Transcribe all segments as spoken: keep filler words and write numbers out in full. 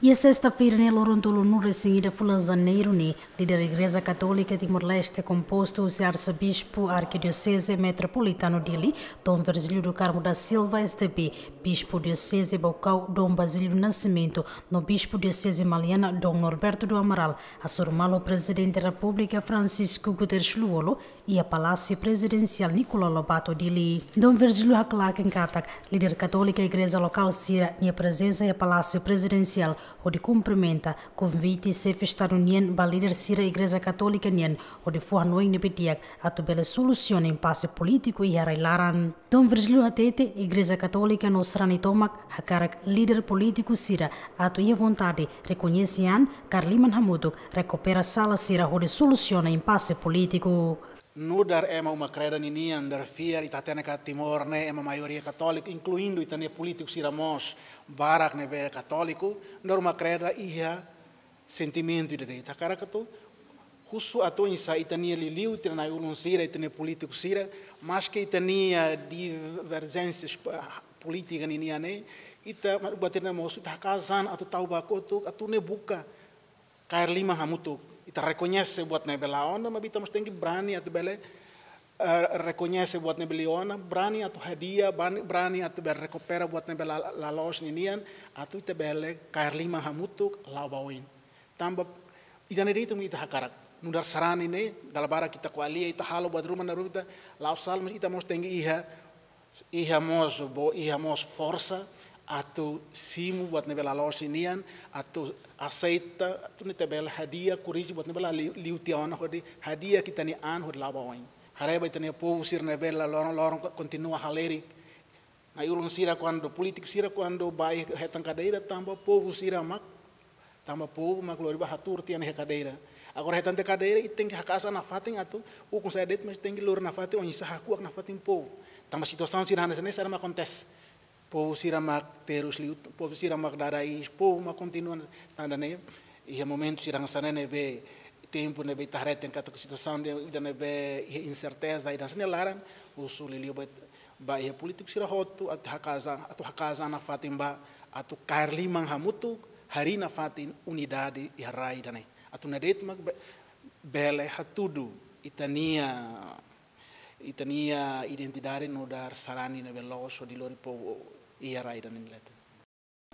Iha sesta-feira ne'e, loron tolunulu-resin-ida fulan Janeiru ne'e, líder Igreja Katólika Timor-Leste, kompostu husi Arsebispu Arkidioseze Metropolitanu Dili, Dom Virgílio do Carmo da Silva, S D B, Bispu Dioseze Baucau, Dom Basílio Nascimento, no Bispu Dioseze Maliana, Dom Norberto do Amaral, hasoru malu Prezidente Repúblika Francisco Guterres Lú-Olo iha Palásiu Prezidensiál Nicolau Lobato Dili. Dom Virgílio haklaken katak líder katólika igreja lokál sira-nia prezensa iha Palásiu Prezidensiál hodi kumprimenta konvite Xefe Estadu nian ba líder sira Igreja Katólika nian hodi fó hanoin ne'ebé di'ak atu bele solusiona impase polítiku iha rai-laran. Dom Virgílio hatete, Igreja Katólika no sarani tomak hakarak líder polítiku sira atu iha vontade rekoñese an, kaer liman hamutuk, rekupera sala sira hodi solusiona impase polítiku. Nu'udar ema uma-kreda ninian, nu'udar fiar, ita hatene katak Timor ne'e ema maioria katóliku, inkluindu ita-nia polítiku sira mós barak ne'ebé katóliku, nu'udar uma-kreda iha sentimentu ida de'it. Hakarak atu husu atu oinsá ita-nia liuliu, ita-nia na'i-ulun sira, ita-nia polítiku sira, maske ita-nia diverjénsia, ah, polítika ninian ne'e, ita, ma-, buat ida mós ita hakaas an atu tau ba kotuk, atu nune'e buka kaer liman hamutuk. Ita rekoñese buat ne'ebé la ona, maibé ita mós tenke brani atu bele, eh, rekoñese buat ne'ebé la ona, brani atu hadi'a, brani, brani atu bele rekupera buat ne'ebé la, la loos ninian, atu ita bele kaer liman hamutuk la'o ba oin. Tanba ida-ne'e de'it mak ita hakarak. Nu'udar sarani ne'e, dala barak ita ko'alia, ita halo buat ruma, na ruma ita la'o sala, mas ita mós tenke iha, iha mós, bele iha mós forsa atu simu buat ne'ebé la loos ninian, atu aseita, atu nune'e ita bele hadi'a, korrije buat ne'ebé la liu, liu tiha ona, hodi hadi'a ita-nia an hodi la'o ba oin. Haree ba ita-nia povu sira ne'ebé la loron-loron ko-, kontinua halerik. Na'i-ulun sira kuandu, polítiku sira kuandu bá hetan kadeira, tanba povu sira mak, tanba povu mak lori bá hatuur tiha ona iha kadeira. Agora hetan tiha kadeira, ita tenke hakaas an nafatin atu ukun sa'e de'it, mas tenke lori nafatin oinsá hakuak nafatin povu. Tanba situasaun sira hanesan ne'e sira mak akontese. Povu sira mak terus liu, povu sira mak dada iis, povu mak kontinua. Tanba ne'e, iha momentu sira hanesan ne'e ne'ebé, tempu ne'ebé ita haree katak situasaun ida ne'ebé iha inserteza ida hanesan ne'e laran, husu liuliu ba, ba iha polítiku sira hotu atu hakaas an, atu hakaas an nafatin ba, atu kaer liman hamutuk, harii nafatin unidade iha rai ida-ne'e. Atu nune'e de'it mak be-, bele hatudu ita-nia, ita-nia identidade nu'udar sarani ne'ebé loos hodi lori povu iha rai ida-ne'e nia leten.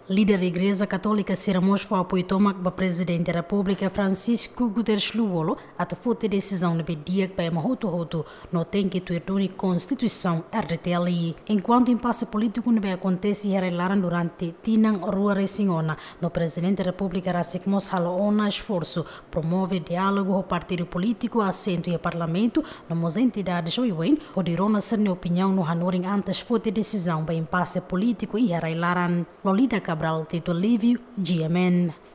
Líder Igreja Katólika sira mós fó apoiu tomak ba Prezidente Repúblika Francisco Guterres Lú-Olo atu foti desizaun ne'ebé di'ak ba ema hotu-hotu no tenke tuir duni Konstituisaun R D T L. Enkuantu impase polítiku ne'ebé akontese iha rai-laran durante tinan rua resin ona, no Prezidente Repúblika rasik mós halo ona esforsu promove diálogu ho partidu polítiku asentu iha Parlamentu, no mós entidades oioin, hodi rona sira-nia opiniaun no hanorin antes foti desizaun ba impase polítiku iha rai-laran. Lolita Cabral, Tito Livio, G M N.